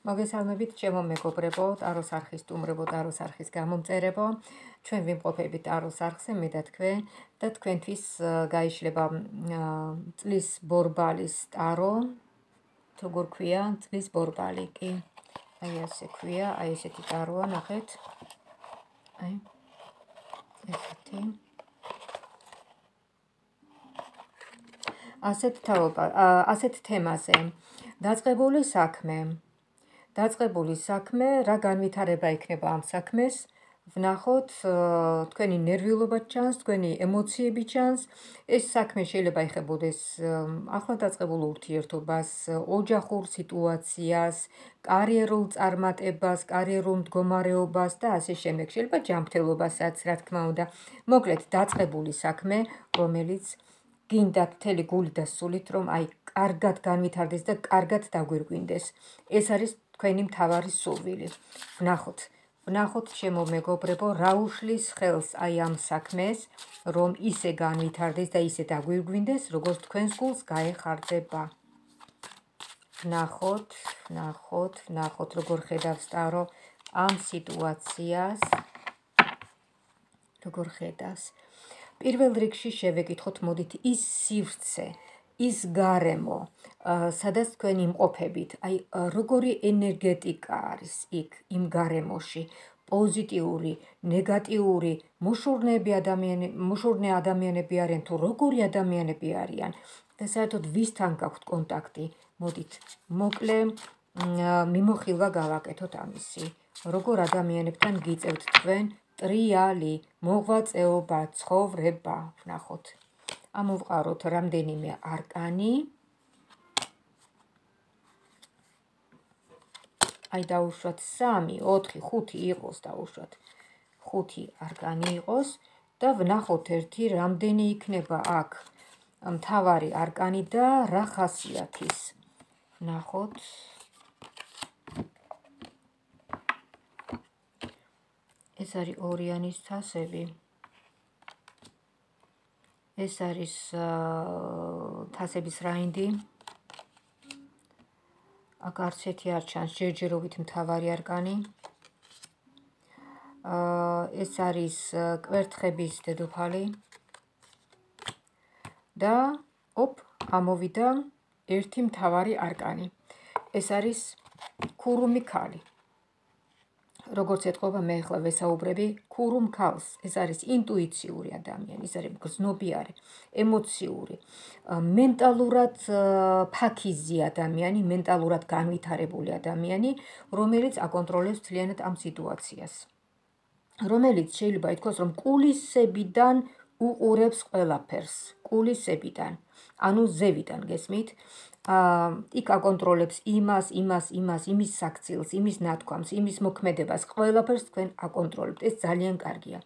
მოგესალმებით ჩემო მეგობრებო, ტაროს არხის სტუმრებო, ტაროს არხის გამომწერებო. ჩვენ ვიმყოფებით ტაროს არხზე, მე და თქვენ და თქვენთვის გაიშლება წლის ბორბალის ტარო. როგორ ქვია წლის ბორბალი კი? აი ასე ქვია, აი ესეთი ტაროა, ნახეთ. აი ესეთი. ასეთ თემაზე. დაწყებული საქმე, რა განვითარება იქნება ამ საქმეს, ვნახოთ, თქვენი ნერვიულობა ჩანს, თქვენი ემოციები ჩანს, ეს საქმე შეიძლება ეხებოდეს ახლა დაწყებულ ურთიერთობას, ოჯახურ სიტუაციას, კარიერულ წარმატებას, კარიერულ მდგომარეობას და ასე შემდეგ, შეიძლება ჯანმრთელობასაც, რა თქმა უნდა. მოკლედ, დაწყებული საქმე, რომელიც გინდათ მთელი გული და სულით, რომ აი კარგად განვითარდეს და კარგად დაგვირგვინდეს. ეს არის თქვენი მთავარი სურვილი. ვნახოთ ჩემო მეგობრებო, რა უშლის ხელს აი ამ საქმეს, რომ ისე განვითარდეს და ისე დაგვირგვინდეს, როგორც თქვენს გულს გაეხარდება. ვნახოთ, როგორ ხედავს ტარო ამ სიტუაციას. როგორ ხედავს. პირველ რიგში შევეკითხოთ, მოდით ის სივრცე, ის გარემო, სადაც თქვენ იმყოფებით, აი როგორი ენერგეტიკა არის იქ იმ გარემოში, პოზიტიური, ნეგატიური, მოშურნე ადამიანები არიან თუ როგორი ადამიანები არიან და საერთოდ ვისთან გაქვთ კონტაქტი. მოდით მოკლე მიმოხილვა გავაკეთოთ ამისი. როგორ ადამიანებთან გიწევთ თქვენ ტრიალი, მოღვაწეობა, ცხოვრება, ვნახოთ. ამოვყაროთ რამდენიმე არკანი. აი დაუშვათ 3, 4, 5 იყოს დაუშვათ. 5 არკანი იყოს და ვნახოთ ერთი რამდენი იქნება აქ მთავარი არკანი და რა ხასიათის. ვნახოთ. ეს არის ორიანის თასები. ეს არის თასების რაინდი. აქ არც ერთი არ ჩანს ჯერჯერობით მთავარი არკანი. ეს არის კვერთხების დედოფალი. და ამოვიდა ერთი მთავარი არკანი. ეს არის ქურუმი ქალი. როგორც ეთქობა, მე ახლა ვესაუბრები ქურუმ ქალს. ეს არის ინტუიციური ადამიანი, ეს არის გრძნობიარე, ემოციური, მენტალურად ფაქიზი ადამიანი, მენტალურად განვითარებული ადამიანი, რომელიც აკონტროლებს მთლიანად ამ სიტუაციას. რომელიც შეიძლება ითქვას, რომ კულისებიდან უყურებს ყველაფერს, კულისებიდან, ანუ ზევიდან, გესმით? იქ აკონტროლებს იმას, იმის საქცილს, იმის ნათქვამს, იმის მოქმედებას, ყველაფერს თქვენ აკონტროლებთ. ეს ძალიან კარგია.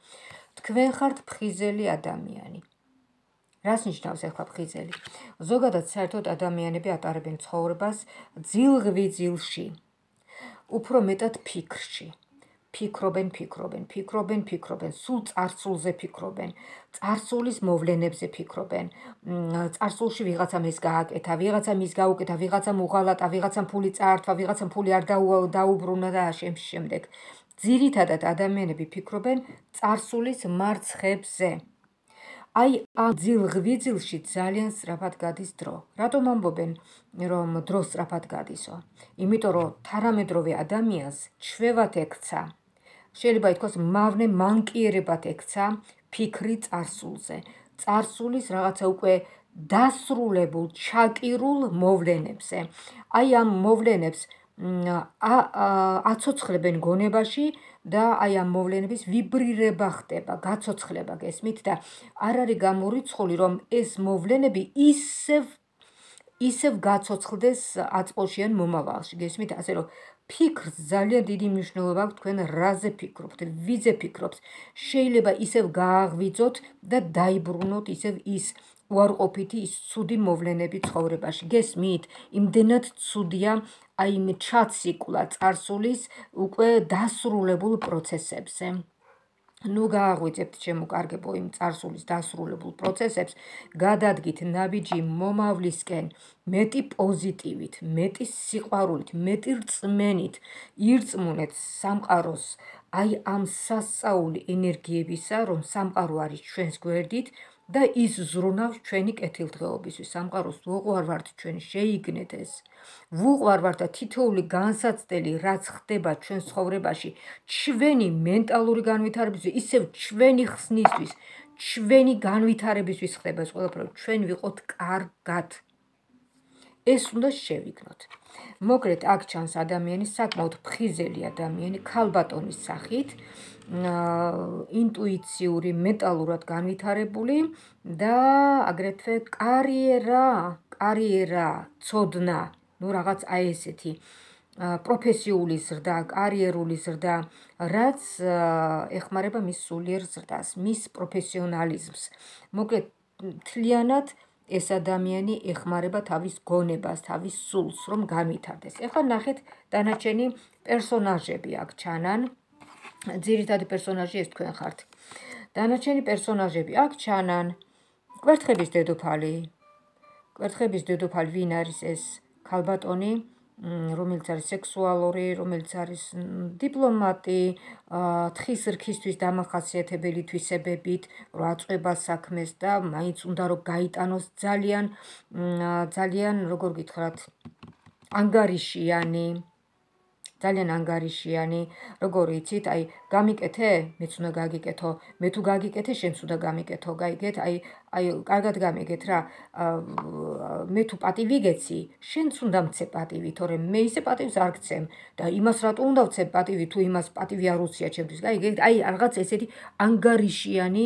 თქვენ ხართ ფხიზელი ადამიანი. რას ნიშნავს ახლა ფხიზელი? ზოგადად საერთოდ ადამიანები ატარებენ ცხოვრებას ძილღვიძილში, უფრო მეტად ფიქრში. ფიქრობენ, სულ წარსულზე ფიქრობენ, წარსულის მოვლენებზე ფიქრობენ, წარსულში ვიღაცამ ეს გააკეთა, ვიღაცამ ის გაუკეთა, ვიღაცამ უღალატა, ვიღაცამ ფული წაართვა, ვიღაცამ ფული არ დაუბრუნა და შემდეგ. ძირითადად ადამიანები ფიქრობენ წარსულის მარცხებზე. აი ამ ძილღვიძილში ძალიან სწრაფად გადის დრო. რატომ ამბობენ, რომ დრო სწრაფად გადისო? იმიტომ რომ თანამედროვე ადამიანს ჩვევად ექცა. შეიძლება ითქვას, მავნე მანკიერებად ექცა ფიქრი წარსულზე. წარსულის რაღაცა უკვე დასრულებულ, ჩაკირულ მოვლენებზე. აი ამ მოვლენებს აცოცხლებენ გონებაში და აი ამ მოვლენების ვიბრირება ხდება, გაცოცხლება, გესმით? და არ არის გამორიცხული, რომ ეს მოვლენები ისევ გაცოცხლდეს აწმყოში ან მომავალში, გესმით? ასე რომ ფიქრს ძალიან დიდი მნიშვნელობა აქვს თქვენ რაზე ფიქრობთ, ვიზე ფიქრობს. შეიძლება ისევ გააღვიძოთ და დაიბრუნოთ ისევ ის უარყოფითი, ის ცუდი მოვლენები ცხოვრებაში. გესმით? იმდენად ცუდია აი ჩაციკლა წარსულის უკვე დასრულებულ პროცესებზე. ნუ გააღვიძებთ შემოკარგებო იმ წარსულის დასრულებულ პროცესებს, გადადგით ნაბიჯი მომავლისკენ მეტი პოზიტივით, მეტი სიყვარულით, მეტი რწმენით, ირწმუნეთ სამყაროს აი ამ სასწაული ენერგიებისა, რომ სამყარო არის ჩვენს გვერდით და ის ზრუნავს ჩვენი კეთილდღეობისთვის. სამყაროს უყვარ ვართ ჩვენ შეიგნეთ ეს. ვუყვარ ვართ და თითოეული განსაცდელი რაც ხდება ჩვენ ცხოვრებაში, ჩვენი მენტალური განვითარებისთვის, ისევ ჩვენი ხსნისთვის, ჩვენი განვითარებისთვის ხდება ეს ყველაფერი, ჩვენ ვიყოთ კარგად. ეს უნდა შევიგნოთ. მოგრეთ აქ ჩანს ადამიანი, საკმაოდ ფხიზელი ადამიანი, ქალბატონის სახით, ინტუიციური, მენტალურად განვითარებული და აგრეთვე კარიერა, ცოდნა, ნუ რაღაც აი ესეთი პროფესიული ზრდა, კარიერული ზრდა, რაც ეხმარება მის სულიერ ზრდას, მის პროფესიონალიზმს. მოკლედ, მთლიანად ეს ადამიანი ეხმარება თავის გონებას, თავის სულს, რომ განვითარდეს. ეხლა ნახეთ დანარჩენი პერსონაჟები აქ ჩანან. ძირითადი პერსონაჟი ეს თქვენ ხართ. დანარჩენი პერსონაჟები აქ ჩანან. კვერთხების დედოფალი. კვერთხების დედოფალი ვინ არის ეს ქალბატონი, რომელიც არის სექსუალური, რომელიც არის დიპლომატი, თხის რქისთვის დამახასიათებელი თვისებებით, რომ აწყვება საქმეს და მაინც უნდა რომ გაიტანოს ძალიან როგორ გითხრათ, ანგარიშიანი, ძალიან ანგარიშიანი, როგორ იცით, აი გამიკეთე, მეც უნდა გაგიკეთო, მე თუ გაგიკეთე, შენც უნდა გამიკეთო, გაიგეთ, აი კარგად გამიგეთ რა, მე თუ პატივი გეცი, შენც უნდა მცე პატივი, თორემ მე ისე პატივს არ გცემ და იმას რატო უნდა ვცე პატივი, თუ იმას პატივი არ უცია ჩემთვის, გაიგეთ, აი რაღაც ესეთი ანგარიშიანი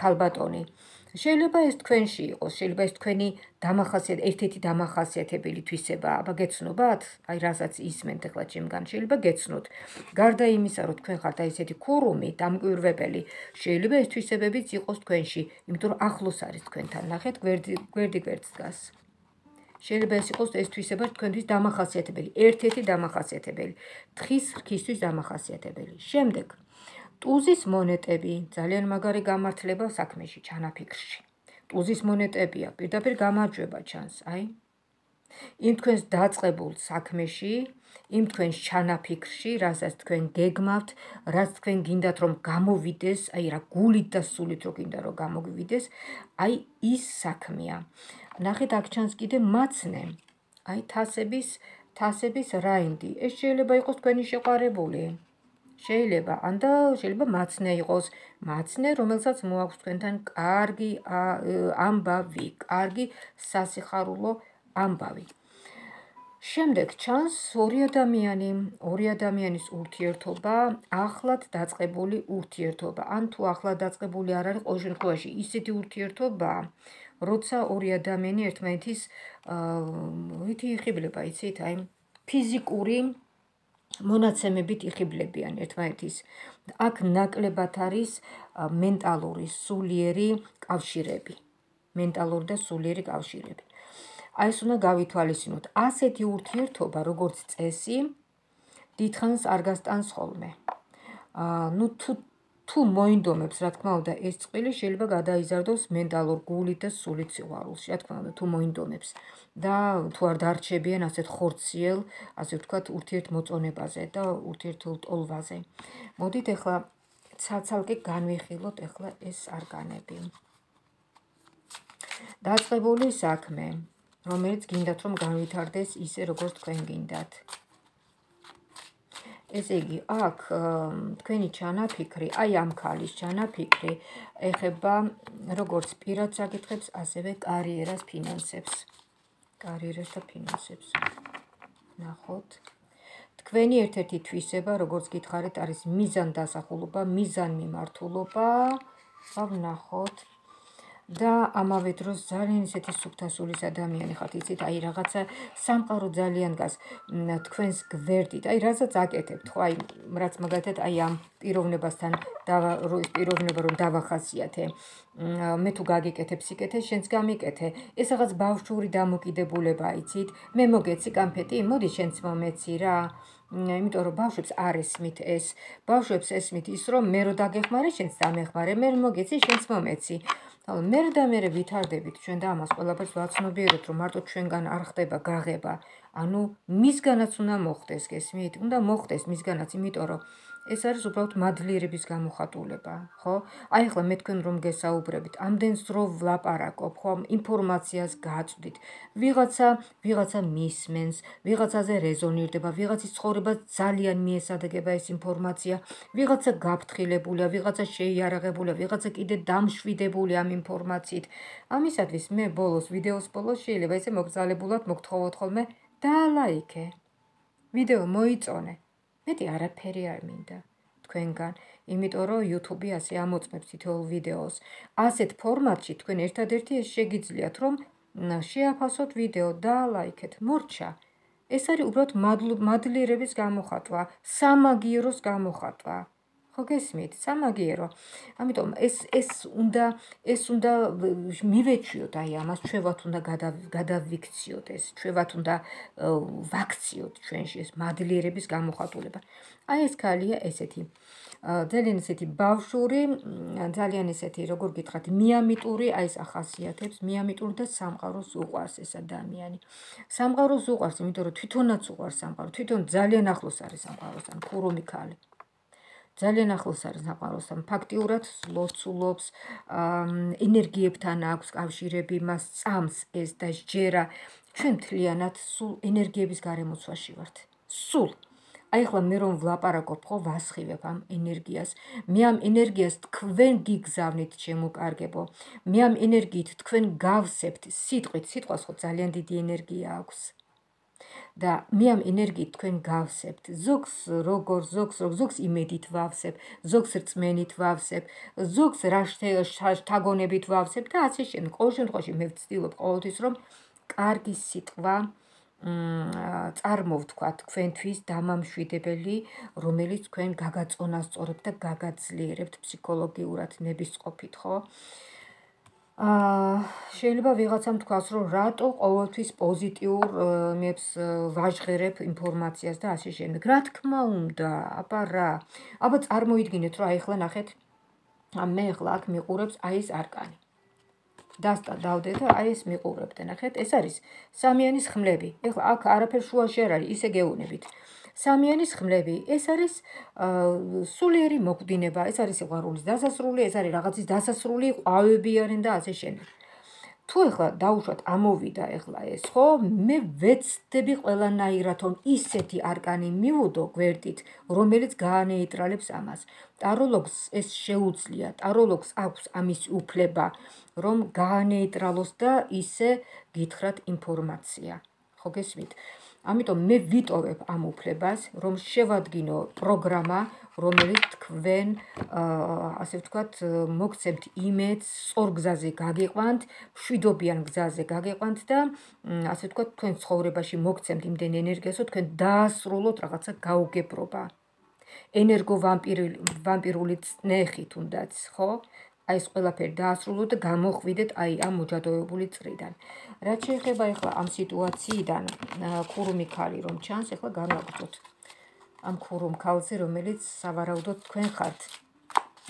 ქალბატონი. შეიძლება ეს თქვენში იყოს, შეიძლება ეს თქვენი ერთ-ერთი დამახასიათებელი თვისება, აბა გეცნობათ? აი რასაც ისმენთ ახლა ჩემგან, შეიძლება გეცნოთ. გარდა იმისა, რომ თქვენ ხართ აი ესეთი ქურუმი, დამკვირვებელი, შეიძლება ეს თვისებებიც იყოს თქვენში, იმიტომ რომ ახლოს არის თქვენთან. ნახეთ, გვერდი გვერდს დგას. შეიძლება ეს იყოს ეს თვისება თქვენთვის დამახასიათებელი, ერთ-ერთი დამახასიათებელი, თხის რქისთვის დამახასიათებელი. შემდეგ ტუზის მონეტები, ძალიან მაგარი გამართლება საქმეში, ჩანაფიქრში. ტუზის მონეტებია, პირდაპირ გამარჯვება ჩანს, აი. იმ თქვენს დაწყებულ საქმეში, იმ თქვენს ჩანაფიქრში, რასაც თქვენ გეგმავთ, რაც თქვენ გინდათ რომ გამოვიდეს, აი რა გულით და სულით რო გინდა რომ გამოვიდეს, აი ის საქმეა. ნახეთ, აქ ჩანს კიდე მაცნე. აი თასების რაინდი. ეს შეიძლება იყოს თქვენი შეყვარებული. შეიძლება, ანდა შეიძლება მაცნე იყოს, მაცნე, რომელსაც მოაქვს თქვენთან კარგი ამბავი, კარგი სასიხარულო ამბავი. შემდეგ ჩანს ორი ადამიანის ურთიერთობა, ახლად დაწყებული ურთიერთობა. ან თუ ახლად დაწყებული არ არის, ყოველ შემთხვევაში ისეთი ურთიერთობა, როცა ორი ადამიანი ერთმანეთის ვითი იხიბლება, იცით, აი ფიზიკური მონაცემებით იხიბლებიან ერთმანეთის. აქ ნაკლებად არის მენტალური, სულიერი კავშირები. მენტალური და სულიერი კავშირები. აი ეს უნდა გავითვალისწინოთ. ასეთი ურთიერთობა, როგორც წესი, დიდხანს არ გასტანს ხოლმე. ნუ თუ მოინდომებს, რა თქმა უნდა, ეს წყვილი შეიძლება გადაიზარდოს მენტალურ გულით და სულით სიყვარულში, რა თქმა უნდა, თუ მოინდომებს და თუ არ დარჩებიან ასეთ ხორციელ, ასე ვთქვათ, ურთიერთმოწონებაზე და ურთიერთულტოლვაზე. მოდით ახლა ცალ-ცალკე განვიხილოთ ახლა ეს არგანები. დაწყებული საქმე, რომელიც გინდათ რომ განვითარდეს ისე, როგორც თქვენ გინდათ. ესე იგი, აქ თქვენი ჩანაფიქრი, აი ამ ქალის ჩანაფიქრი ეხება როგორც პირად საკითხებს, ასევე კარიერას, ფინანსებს. კარიერას და ფინანსებს. ნახოთ. თქვენი ერთ-ერთი თვისება, როგორც გითხარით, არის მიზანდასახულობა, მიზანმიმართულობა. ვნახოთ. და ამავე დროს ძალიან ისეთი სუფთასულის ადამიანი ხართ, იცით, აი რაღაცა სამყარო ძალიან გას თქვენს გვერდით, აი რასაც აკეთებთ, ხო, აი რაც მაგალითად აი ამ პიროვნებასთან პიროვნება რომ დავახასიათე, მე თუ გაგიკეთებ სიკეთე, შენც გამიკეთე. ეს რაღაც ბავშვური დამოკიდებულება, იცით, მე მოგეცი კანფეტი, მოდი შენც მომეცი რა. იმიტომ რომ ბავშვებს არ ესმით ეს. ბავშვებს ესმით ის, რომ მე რო დაგეხმარე, შენც დამეხმარე, მე მოგეცი, შენც მომეცი. მე და მე ვითარდებით ჩვენ და ამას ყველაფერს ვაცნობიერებთ, რომ მარტო ჩვენგან არ ხდება გაღება. ანუ მისგანაც უნდა მოხდეს, გესმით? უნდა მოხდეს მისგანაც, იმიტომ რომ ეს არის უბრალოდ მადლიერების გამოხატულება, ხო? აი ახლა მე თქვენ რომ გესაუბრებით, ამდენს დრო ვლაპარაკობ, ხო? ინფორმაციას გაწვდით. ვიღაცა მისმენს, ვიღაცაზე რეზონირდება, ვიღაცის ცხოვრება ძალიან მიესადაგება ეს ინფორმაცია, ვიღაცა გაფრთხილებულია, ვიღაცა შეიარაღებულია, ვიღაცა კიდე დამშვიდებული ამ ინფორმაციით. ამისათვის მე ვიდეოს ბოლოს შეიძლება ესე მოგზალებულად მოგთხოვოთ ხოლმე დალაიქე. ვიდეო მოიწონე. მეტი არაფერი არ მინდა თქვენგან, იმიტომ რომ YouTube ასე ამოწმებს თითოეულ ვიდეოს. ასეთ ფორმატში თქვენ ერთადერთი ეს შეგიძლიათ, რომ შეაფასოთ ვიდეო, დალაიქეთ, მორჩა. ეს არის უბრალოდ მადლიერების გამოხატვა, სამაგიეროს გამოხატვა. ხო გესმით? სამაგიერო. ამიტომ ეს უნდა მივეჩვიოთ აი ამას, ჩვენවත් უნდა გადავიქციოთ ეს, ჩვენවත් უნდა ვაქციოთ ჩვენში ეს მადლიერების გამოხატულება. აი ეს ქალია ესეთი. ძალიან ესეთი ბავშვური, ძალიან ესეთი, როგორ გითხრათ, მიამიტური, აი ეს ახასიათებს, მიამიტური და სამყაროს უყვარს ეს ადამიანი. სამყაროს უყვარს, იმიტომ რომ თვითონაც უყვარს სამყარო, თვითონ ძალიან ახლოს არის სამყაროსთან, ქურუმი ქალი. ძალიან ახლოს არის სამყაროსთან, ფაქტიურად ლოცულობს, ენერგიებთან აქვს კავშირები, მას წამს ეს და სჯერა. ჩვენ მთლიანად სულ ენერგიების გარემოცვაში ვართ. სულ. აი ახლა მე რომ ვლაპარაკობ, ხო, ვასხივებ ამ ენერგიას. მე ამ ენერგიას თქვენ გიგზავნით, ჩემო კარგებო. მე ამ ენერგიით თქვენ გავსებთ სიტყვით, სიტყვას ხო ძალიან დიდი ენერგია აქვს. და მე ამ ენერგიით თქვენ გავსებთ. ზოგს იმედით ვავსებ, ზოგს რწმენით ვავსებ, ზოგს შთაგონებით ვავსებ და ასე შემდეგ. ყოველ შემთხვევაში მე ვცდილობ ყოველთვის, რომ კარგი სიტყვა წარმოვთქვათ თქვენთვის დამამშვიდებელი, რომელიც თქვენ გაგაწონასწორებთ და გაგაძლიერებთ ფსიქოლოგიურად ნებისყოფით, ხო? შეიძლება ვიღაცამ თქვას, რომ რატო ყოველთვის პოზიტიურ მებს ვაჟღერებ ინფორმაციას და ასე შემდეგ. რა თქმა უნდა, აბა რა. აბა წარმოიდგინეთ, რომ აი ახლა ნახეთ, მე ახლა აქ მიყურებს აი ეს არკანი. დავდე და აი ეს მიყურებთ, ნახეთ, ეს არის სამიანის ხმლები. ეხლა აქ არაფერ შუაში არ არის, ისე გეუბნებით. სამიანის ხმლები, ეს არის სულიერი მოკვდინება, ეს არის სიყვარულის დასასრული, ეს არის რაღაცის დასასრული, ყვავები არიან და ასე შემდეგ. თუ ეხლა დაუშვათ ამოვიდა ეხლა ეს, ხო, მე ვეცდები ყველანაირად, რომ ისეთი არკანი მივუდო გვერდით, რომელიც გაანეიტრალებს ამას. ტაროლოგს ეს შეუძლია, ტაროლოგს აქვს ამის უფლება, რომ გაანეიტრალოს და ისე გითხრათ ინფორმაცია. ხო გესმით? ამიტომ მე ვიტოვებ ამ უფლებას, რომ შევადგინო პროგრამა, რომელიც თქვენ, ასე ვთქვათ, მოგცემთ იმედს, სწორ გზაზე გაგიყვანთ, მშვიდობიან გზაზე გაგიყვანთ და ასე ვთქვათ, თქვენ ცხოვრებაში მოგცემთ იმდენ ენერგიას, რომ თქვენ დაასრულოთ რაღაცა გაუგებრობა. ენერგოვამპირული წნეხი თუნდაც, ხო? აი ეს ყველაფერი დაასრულოთ და გამოხვიდეთ აი ამ მოჯადოებული წრიდან. რაც შეეხება ახლა ამ სიტუაციიდან, ქურუმი ქალი რომ ჩანს, ახლა განვაგრძოთ ამ ქურუმ ქალზე, რომელიც სავარაუდოდ თქვენ ხართ.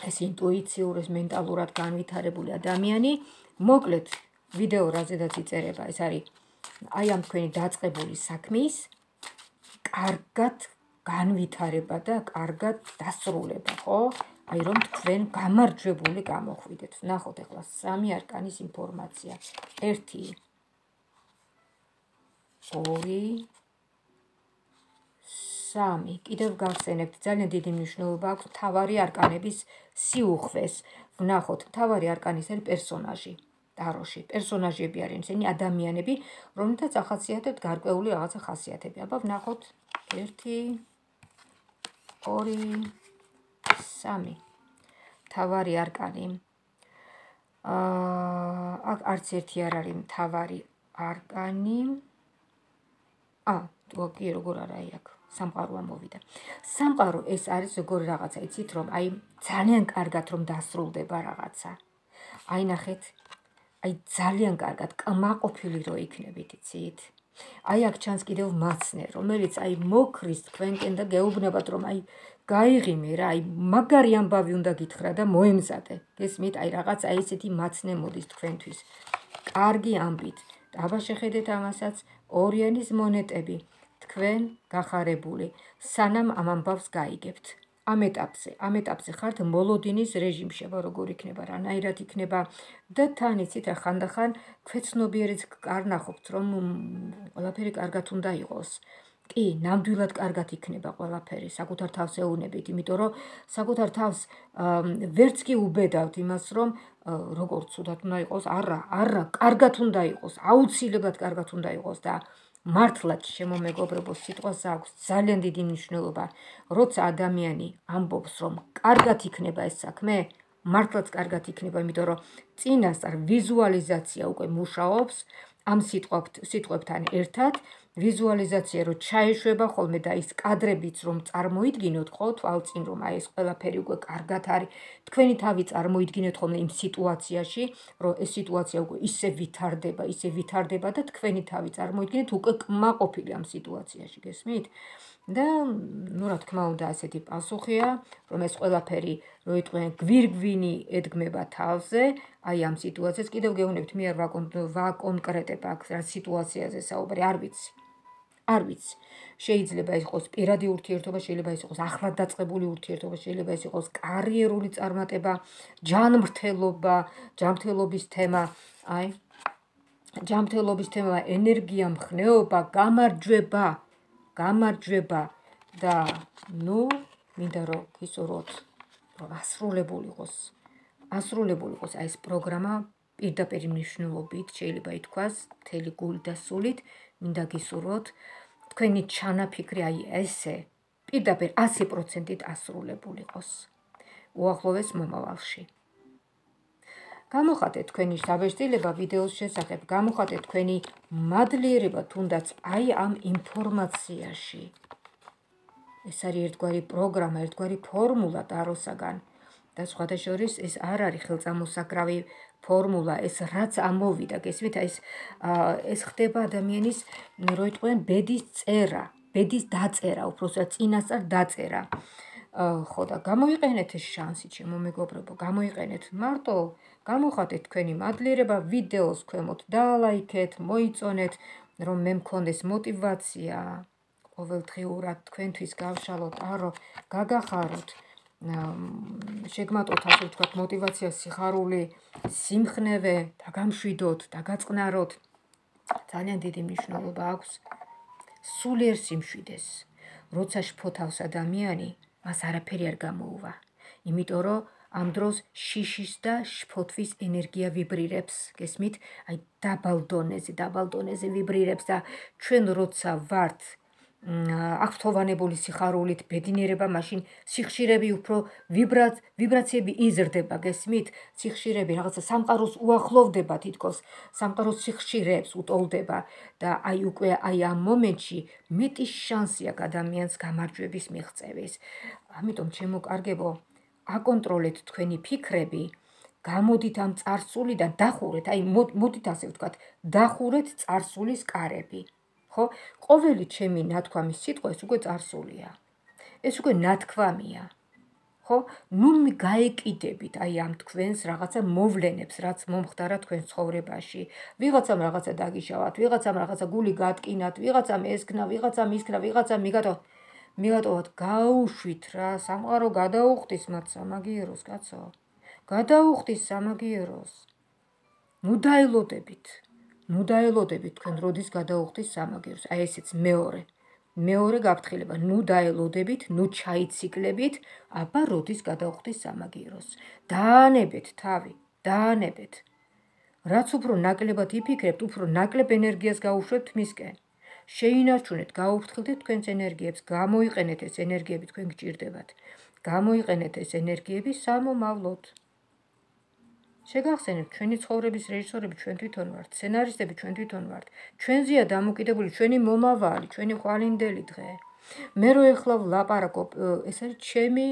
ეს ინტუიციურ, ეს მენტალურად განვითარებული ადამიანი, მოკლედ ვიდეო რაზედაც იწერება, ეს არის აი ამ თქვენი დაწყებული საქმის კარგად განვითარება და კარგად დასრულება, ხო? აი რომ თქვენ გამარჯვებული გამოხვიდეთ. ნახოთ ახლა სამი არკანის ინფორმაცია. 1 2 3 კიდევ გავხსენებთ, ძალიან დიდი მნიშვნელობა აქვს მთავარი არკანების სიუხვეს. ვნახოთ, მთავარი არკანის არის პერსონაჟი. ტაროში პერსონაჟები არიან, ისინი ადამიანები, რომლითაც ახასიათებთ გარკვეული რაღაცა ხასიათები. აბა ვნახოთ 1 2 3 მთავარი არკანი. აქ არც ერთი არ არის მთავარი არკანი. კი, როგორ არა, აი აქ სამყარო ამოვიდა. სამყარო ეს არის როგორი რაღაცა, იცით, რომ აი ძალიან კარგად რომ დასრულდება რაღაცა. აი ნახეთ, აი ძალიან კარგად კმაყოფილი რო იქნებით, იცით? აი აქ ჩანს კიდევ მაცნე, რომელიც აი მოკრის თქვენკენ და გეუბნებათ, რომ აი გაიღიმე რა, აი მაგარი ამბავი უნდა გითხრა და მოემზადე. გესმით, აი რაღაც აი ესეთი მაცნე მოდის თქვენთვის. კარგი ამბით. აბა შეხედეთ ამასაც, ორიანის მონეტები, თქვენ გახარებული, სანამ ამ ამბავს გაიგებთ. ამ ეტაპზე ხართ მოლოდინის რეჟიმში, როგორ იქნება, რანაირად იქნება და თან იცით რა ხანდახან ქვეცნობიერიც არ ნახობთ, რომ ყველაფერი კარგად უნდა იყოს. კი, ნამდვილად კარგად იქნება ყველაფერი, საკუთარ თავს ეუნებით, იმიტომ რომ საკუთარ თავს ვერც კი უბედავთ იმას, რომ როგორ ცუდად უნდა იყოს, არა, კარგად უნდა იყოს, აუცილებლად კარგად უნდა იყოს და მართლაც შემომეგობრებო, სიტყვას აქვს ძალიან დიდი მნიშვნელობა, როცა ადამიანი ამბობს, რომ კარგად იქნება ეს საქმე, მართლაც კარგად იქნება, იმიტომ რომ წინასწარ ვიზუალიზაცია უკვე მუშაობს ამ სიტყვებთან ერთად, ვიზუალიზაცია რო ჩაეშვება ხოლმე და ის კადრებიც რომ წარმოიდგინოთ, ხო, თვალწინ რომ აი ეს ყველაფერი უკვე კარგად არის, თქვენი თავი წარმოიდგინეთ ხოლმე იმ სიტუაციაში, რომ ეს სიტუაცია უკვე ისე ვითარდება და თქვენი თავი წარმოიდგინეთ უკვე კმაყოფილი ამ სიტუაციაში, გესმით? და ნუ რა თქმა უნდა ასეთი პასუხია, რომ ეს ყველაფერი რო იტყვიან გვირგვინი ედგმება თავზე, აი ამ სიტუაციას კიდევ გეუბნებთ, მე არ ვაკონკრეტებ აქ რა სიტუაციაზე საუბარი, არ ვიცი. შეიძლება იყოს პირადი ურთიერთობა, შეიძლება იყოს ახლად დაწყებული ურთიერთობა, შეიძლება იყოს კარიერული წარმატება, ჯანმრთელობა, ჯანმრთელობის თემა, აი ჯანმრთელობის თემა, ენერგია, მხნეობა, გამარჯვება და ნუ მინდა რომ გისურვოთ, რომ ასრულებული იყოს აი ეს პროგრამა პირდაპირ მნიშვნელობით, შეიძლება ითქვას, მთელი გულით და სულით, მინდა გისურვოთ, თქვენი ჩანაფიქრი აი ესე პირდაპირ 100%-ით ასრულებული იყოს უახლოეს მომავალში. გამოხატეთ თქვენი საბეჭდილება ვიდეოს შესახებ, გამოხატეთ თქვენი მადლიერება თუნდაც აი ამ ინფორმაციაში. ეს არის ერთგვარი პროგრამა, ერთგვარი ფორმულა ტაროსაგან და სხვათა შორის ეს არ არის ხელწამოსაკრავი ფორმულა, ეს რაც ამოვიდა, გესმით, ეს ხდება ადამიანის, რო იტყვიან, ბედის დაწერა, უბრალოდ წინასწარ დაწერა. ხო და გამოიყენეთ ეს შანსი, ჩემო მეგობრებო, გამოიყენეთ, მარტო გამოხატეთ თქვენი მადლიერება, ვიდეოს ქვემოთ დალაიქეთ, მოიწონეთ, რომ მე მქონდეს мотивация ყოველდღიურად თქვენთვის გავშალოთ, არო, გაგახაროთ, შეგმატოთ, ასე ვთქვათ, мотивация, სიხარული, სიმხნევე, დაგამშვიდოთ, დაგაწყნაროთ. ძალიან დიდი მნიშვნელობა აქვს სულიერ სიმშვიდეს. როცა შფოთავს ადამიანი, მას არაფერი არ გამოუვა. იმიტომ რომ ამ დროს შიშის და შფოთვის ენერგია ვიბრირებს, გესმით? აი დაბალ დონეზე ვიბრირებს და ჩვენ როცა ვართ აღფრთოვანებული სიხარულით, ბედნიერება, მაშინ სიხშირები უფრო ვიბრაციები იზრდება, გესმით? სიხშირები რაღაცა სამყაროს უახლოვდება თითქოს, სამყაროს სიხშირეებს უტოლდება და აი უკვე აი ამ მომენტში მეტი შანსი აქვს ადამიანს გამარჯვების მიღწევის. ამიტომ ჩემო კარგებო, აკონტროლეთ თქვენი ფიქრები, გამოდით ამ წარსულიდან, დახურეთ, აი მოდით ასე ვთქვათ, დახურეთ წარსულის კარები. ხო? ყოველი ჩემი ნათქვამის სიტყვა ეს უკვე წარსულია. ეს უკვე ნათქვამია. ხო? ნუ გაეკიდებით აი ამ თქვენს რაღაცა მოვლენებს, რაც მომხდარა თქვენ ცხოვრებაში. ვიღაცამ რაღაცა დაგიშავათ, ვიღაცამ რაღაცა გული გატკინათ, ვიღაცამ ესქნა, ვიღაცამ ისქნა, ვიღაცამ მიგატოვათ, გაუშვით რა, სამყარო გადაუხდის მათ სამაგიეროს, კაცო. გადაუხდის სამაგიეროს. ნუ დაელოდებით თქვენ როდის გადაუხდის სამაგიეროს. აი ესეც მეორე გაფრთხილება, ნუ დაელოდებით, ნუ ჩაიციკლებით, აბა როდის გადაუხდის სამაგიეროს. დაანებეთ თავი, დაანებეთ. რაც უფრო ნაკლებად იფიქრებთ, უფრო ნაკლებ ენერგიას გაუშვებთ მისკენ. შეინარჩუნეთ, გაუფრთხილდეთ თქვენს ენერგიებს, გამოიყენეთ ეს ენერგიები, თქვენ გჭირდებათ. გამოიყენეთ ეს ენერგიები სამომავლოდ. შეგახსენებთ, ჩვენი ცხოვრების რეჟისორები ჩვენ თვითონ ვართ, სცენარისტები ჩვენ თვითონ ვართ. ჩვენზეა დამოკიდებული ჩვენი მომავალი, ჩვენი ხვალინდელი დღე. მე რო ეხლა ვლაპარაკობ, ეს არის ჩემი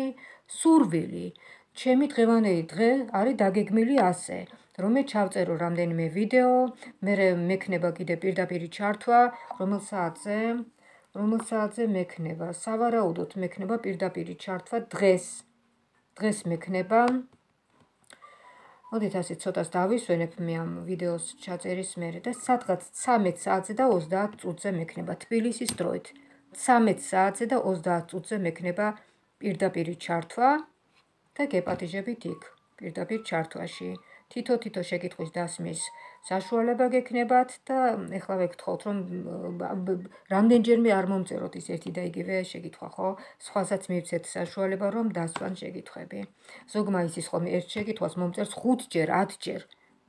სურვილი, ჩემი დღევანდელი დღე არის დაგეგმილი ასე, რომ მე ჩავწერო რამდენიმე ვიდეო, მე მექნება კიდე პირდაპირი ჩართვა, რომელ საათზე მექნება, სავარაუდოდ მექნება პირდაპირი ჩართვა დღეს მექნება. მოდით ასე ცოტას დავისვენებ მე ამ ვიდეოს ჩაწერის მერე და სადღაც 13 საათზე და 30 წუთზე მექნება თბილისის დროით. 13 საათზე და 30 წუთზე მექნება პირდაპირი ჩართვა და გეპატიჟებით იქ პირდაპირ ჩართვაში. თითო შეკითხვის დასმის საშუალება გექნებათ და ეხლა ვეკითხოთ, რომ რამდენჯერმე არ მომწეროთ ის ერთი და იგივე შეკითხვა, ხო? სხვასაც მივცეთ საშუალება, რომ დასვან შეკითხვები. ზოგმა იცის ხოლმე ერთ შეკითხვას მომწერს 5ჯერ, 10ჯერ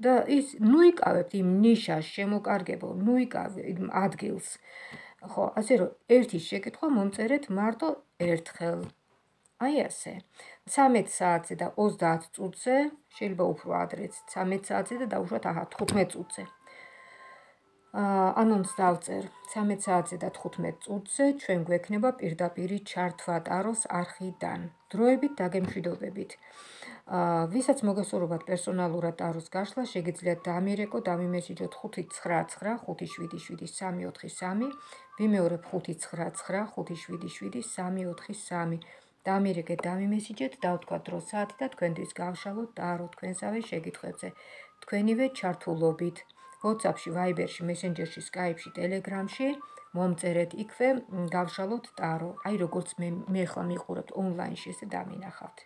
და ის ნუ იკავებთ იმ ნიშას შემოკარგებო, ნუ იკავებთ იმ ადგილს. ხო, ასე რომ ერთი შეკითხვა მომწერეთ მარტო ერთხელ. აი ასე. 13 საათზე და 30 წუთზე, შეიძლება უფრო ადრეც, 13 საათზე და დაუშვათ 15 წუთზე. ანონს დავწერ 13 საათზე და 15 წუთზე ჩვენ გვექნება პირდაპირი ჩართვა ტაროს არხიდან. დროებით დაგემშვიდობებით. ვისაც მოგესურვებათ პერსონალურად ტაროს გაშლა, შეგიძლიათ დამირეკოთ, დამიმესიჯოთ 599577343, ვიმეორებ 599577343. დამირეკეთ, დამიმესიჯეთ, დავთქვათ დრო საათი და თქვენთვის გავშალოთ ტარო თქვენსავე შეკითხვებზე. თქვენივე ჩართულობით. WhatsApp-ში, Viber-ში, Messenger-ში, Skype-ში, Telegram-ში მომწერეთ იქვე გავშალოთ ტარო. აი როგორც მე ხლა მიყურებთ ონლაინში, ესე დამინახავთ.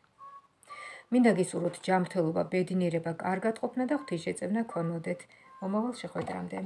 მინდა გისურვოთ ჯანმრთელობა, ბედნიერება, კარგად ყოფნა და ღვთისშეწევნა გქონოდეთ. მომავალ შეხვედრამდე.